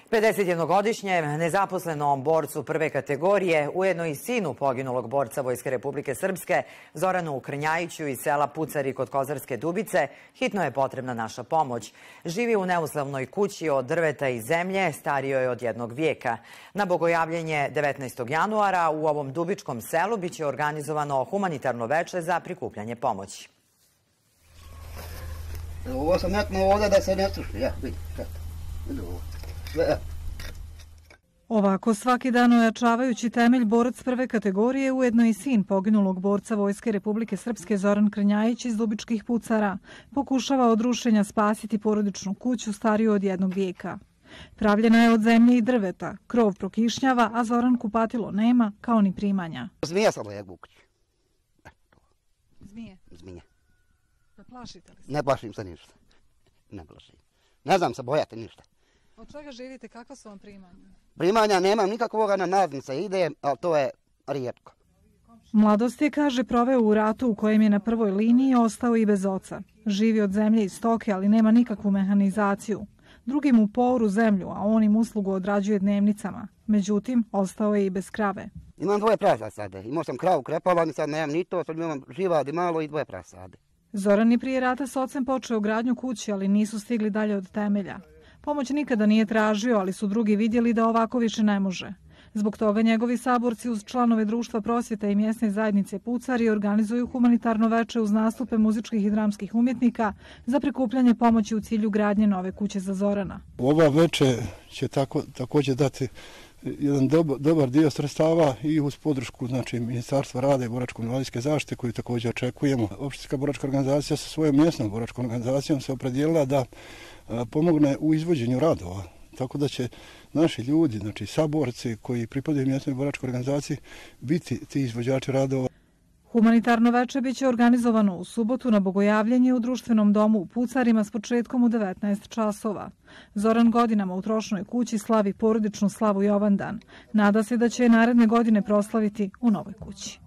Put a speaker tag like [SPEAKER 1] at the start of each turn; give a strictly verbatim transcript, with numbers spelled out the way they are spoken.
[SPEAKER 1] pedesetjednogodišnjem nezaposlenom borcu prve kategorije, ujedno i sinu poginulog borca Vojske Republike Srpske, Zoranu Krnjajiću iz sela Pucari kod Kozarske Dubice, hitno je potrebna naša pomoć. Živi u neuslovnoj kući od drveta i zemlje, starijoj je od jednog vijeka. Na bogojavljenje devetnaestog januara u ovom dubičkom selu biće organizovano humanitarno veče za prikupljanje pomoći.
[SPEAKER 2] Ovo sam metnuo ovdje da se ne struši, ja, vidi, vidi ovo.
[SPEAKER 3] Ovako svaki dan ojačavajući temelj borac prve kategorije, ujedno i sin poginulog borca Vojske Republike Srpske Zoran Krnjajić iz Dubičkih Pucara, pokušava od rušenja spasiti porodičnu kuću stariju od jednog vijeka. Pravljena je od zemlje i drveta, krov prokišnjava, a Zoran kupatilo nema, kao ni primanja.
[SPEAKER 2] Zmija sam lejak u kući.
[SPEAKER 3] Zmije?
[SPEAKER 2] Zmije.
[SPEAKER 3] Da plašite li se?
[SPEAKER 2] Ne plašim se ništa. Ne plašim. Ne znam se bojati ništa.
[SPEAKER 3] Od čega živite? Kakva su vam primanja?
[SPEAKER 2] Primanja nemam nikakvoga, na naznice ide, ali to je rijetko.
[SPEAKER 3] Mladost je, kaže, proveo u ratu u kojem je na prvoj liniji ostao i bez oca. Živi od zemlje i stoke, ali nema nikakvu mehanizaciju. Drugi mu poru zemlju, a on im uslugu odrađuje dnevnicama. Međutim, ostao je i bez krave.
[SPEAKER 2] Imam dvoje prasade. Imao sam kravu krepavan i sad nemam ni to, sad imam živadi malo i dvoje prasade.
[SPEAKER 3] Zoran je prije rata s ocem počeo gradnju kući, ali nisu stigli dalje od temelja. Pomoć nikada nije tražio, ali su drugi vidjeli da ovako više ne može. Zbog toga njegovi saborci uz članove društva prosvjeta i mjesne zajednice Pucari organizuju humanitarno veče uz nastupe muzičkih i dramskih umjetnika za prikupljanje pomoći u cilju gradnje nove kuće za Zorana.
[SPEAKER 4] Ova veče će tako, također dati jedan dobar, dobar dio sredstava i uz podršku, znači, Ministarstva rada i boračko-invalidske zaštite koju također očekujemo. Opštinska boračka organizacija sa svojom mjesnom boračkom organizacijom se opredijelila da a, pomogne u izvođenju radova. Tako da će naši ljudi, znači saborci koji pripadaju mjesnoj boračkoj organizaciji, biti ti izvođači radova.
[SPEAKER 3] Humanitarno veče biće organizovano u subotu na bogojavljenje u društvenom domu u Pucarima s početkom u devetnaest časova. Zoran godinama u trošnoj kući slavi porodičnu slavu Jovandan. Nada se da će je naredne godine proslaviti u novoj kući.